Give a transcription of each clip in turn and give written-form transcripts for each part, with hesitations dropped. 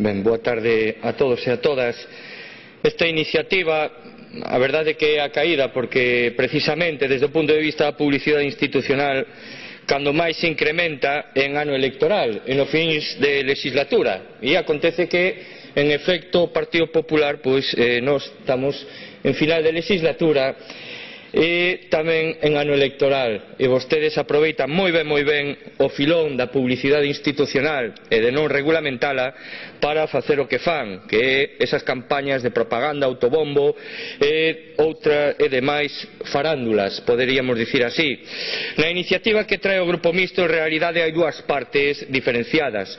boa tarde a todos e a todas. Esta iniciativa, a verdade é que é a caída porque precisamente desde o punto de vista da publicidade institucional cando máis se incrementa en ano electoral, en os fins de legislatura, e acontece que en efecto o Partido Popular nós estamos en final de legislatura e tamén en ano electoral, e vostedes aproveitan moi ben o filón da publicidade institucional e de non regulamentala para facer o que fan, que é esas campañas de propaganda, autobombo e demais farándulas, poderíamos dicir así. Na iniciativa que trae o Grupo Mixto en realidade hai dúas partes diferenciadas.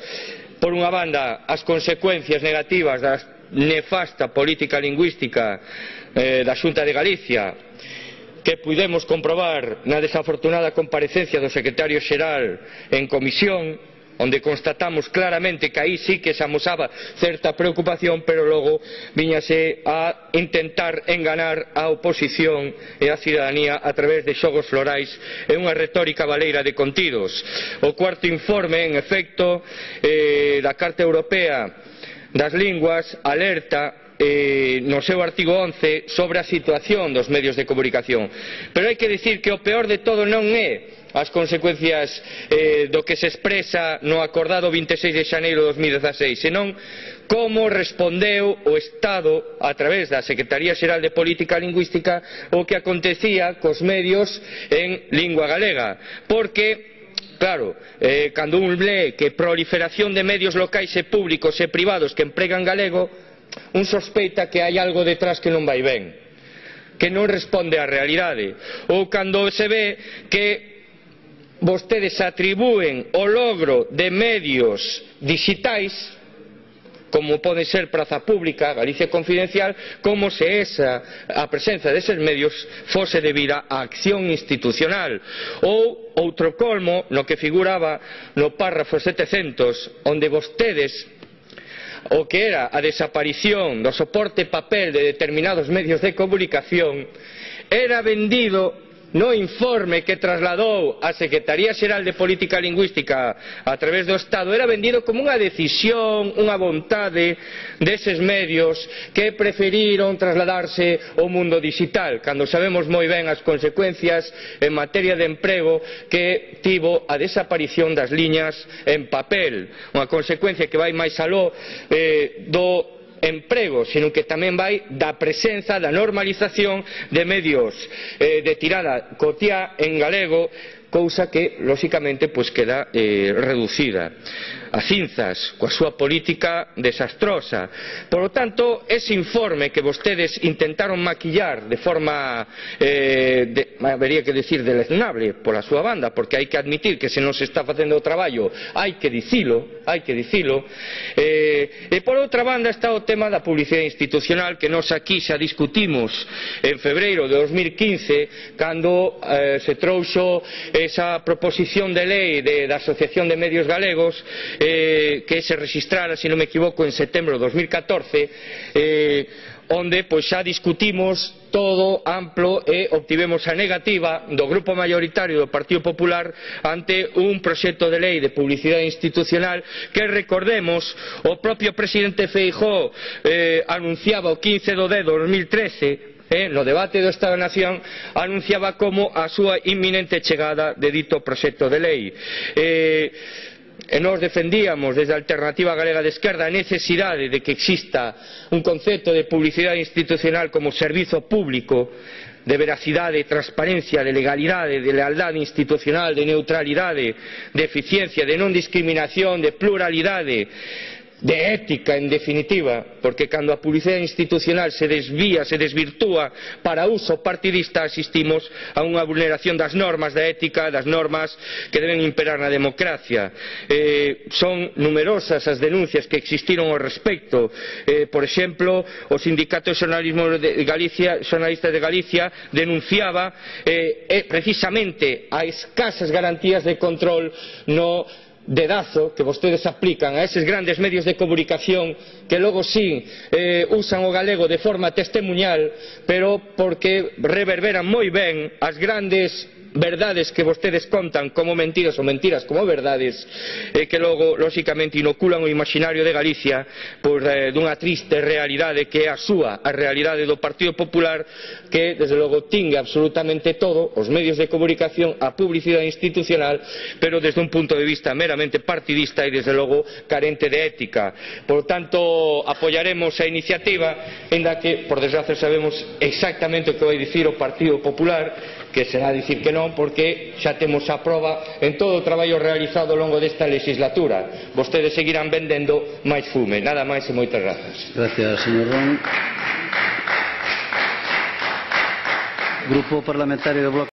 Por unha banda, as consecuencias negativas da nefasta política lingüística da Xunta de Galicia, que pudemos comprobar na desafortunada comparecencia do secretario xeral en comisión, onde constatamos claramente que aí sí que se amosaba certa preocupación, pero logo viñase a intentar enganar a oposición e a cidadanía a través de xogos florais e unha retórica baleira de contidos. O cuarto informe, en efecto, da Carta Europea das Linguas alerta no seu artigo 11 sobre a situación dos medios de comunicación, pero hai que dicir que o peor de todo non é as consecuencias do que se expresa no acordado 26 de xaneiro de 2016, senón como respondeu o Estado a través da Secretaría Xeral de Política Lingüística o que acontecía cos medios en lingua galega, porque claro, cando un lee que proliferación de medios locais e públicos e privados que empregan galego, un sospeita que hai algo detrás que non vai ben, que non responde á realidade, ou cando se ve que vostedes atribúen o logro de medios digitais, como pode ser Praza Pública, Galicia Confidencial, como se a presenza deses medios fose debida á acción institucional, ou outro colmo no que figuraba no párrafo 700, onde vostedes o que era a desaparición do soporte papel de determinados medios de comunicación era vendido no informe que trasladou a Secretaría Xeral de Política Lingüística a través do Estado, era vendido como unha decisión, unha vontade deses medios que preferiron trasladarse ao mundo digital, cando sabemos moi ben as consecuencias en materia de emprego que tivo a desaparición das liñas en papel, unha consecuencia que vai máis aló do emprego, sino que tamén vai da presenza, da normalización de medios de tirada cotiá en galego, cousa que, lóxicamente, queda reducida a cinzas coa súa política desastrosa. Por lo tanto, ese informe que vostedes intentaron maquillar de forma, habería que decir, deleznable pola súa banda, porque hai que admitir que se non se está facendo o traballo hai que dicilo, e por outra banda está o tema da publicidade institucional que nós aquí xa discutimos en febreiro de 2015 cando se trouxo esa proposición de lei da Asociación de Medios Galegos que se registrara, se non me equivoco, en setembro de 2014, onde xa discutimos todo amplo e obtivemos a negativa do grupo maioritario do Partido Popular ante un proxecto de lei de publicidade institucional que, recordemos, o propio presidente Feijóo anunciaba o 15 de 2013 no debate do Estado da Nación, anunciaba como a súa inminente chegada de dito proxecto de lei. E nós defendíamos desde a Alternativa Galega de Esquerda a necesidade de que exista un concepto de publicidade institucional como servizo público de veracidade, transparencia, de legalidade, de lealdade institucional, de neutralidade, de eficiencia, de non discriminación, de pluralidade, de ética, en definitiva, porque cando a publicidade institucional se desvía, se desvirtúa para uso partidista, asistimos a unha vulneración das normas da ética, das normas que deben imperar na democracia. Son numerosas as denuncias que existiron ao respecto. Por exemplo, o Sindicato de Xornalistas de Galicia denunciaba precisamente a escasas garantías de control no dedazo que vostedes aplican a eses grandes medios de comunicación que logo sí usan o galego de forma testemuñal, pero porque reverberan moi ben as grandes verdades que vostedes contan como mentiras ou mentiras como verdades e que logo, lóxicamente, inoculan o imaginario de Galicia dunha triste realidade que é a súa, a realidade do Partido Popular, que, desde logo, tingue absolutamente todo, os medios de comunicación, a publicidade institucional, pero desde un punto de vista meramente partidista e, desde logo, carente de ética. Por tanto, apoiaremos a iniciativa, en la que, por desgracia, sabemos exactamente o que vai dicir o Partido Popular, que será dicir que non, porque xa temos a proba en todo o traballo realizado ao longo desta legislatura. Vostedes seguirán vendendo máis fume. Nada máis e moitas grazas. Gracias, señor Ron. Grupo Parlamentario do Bloque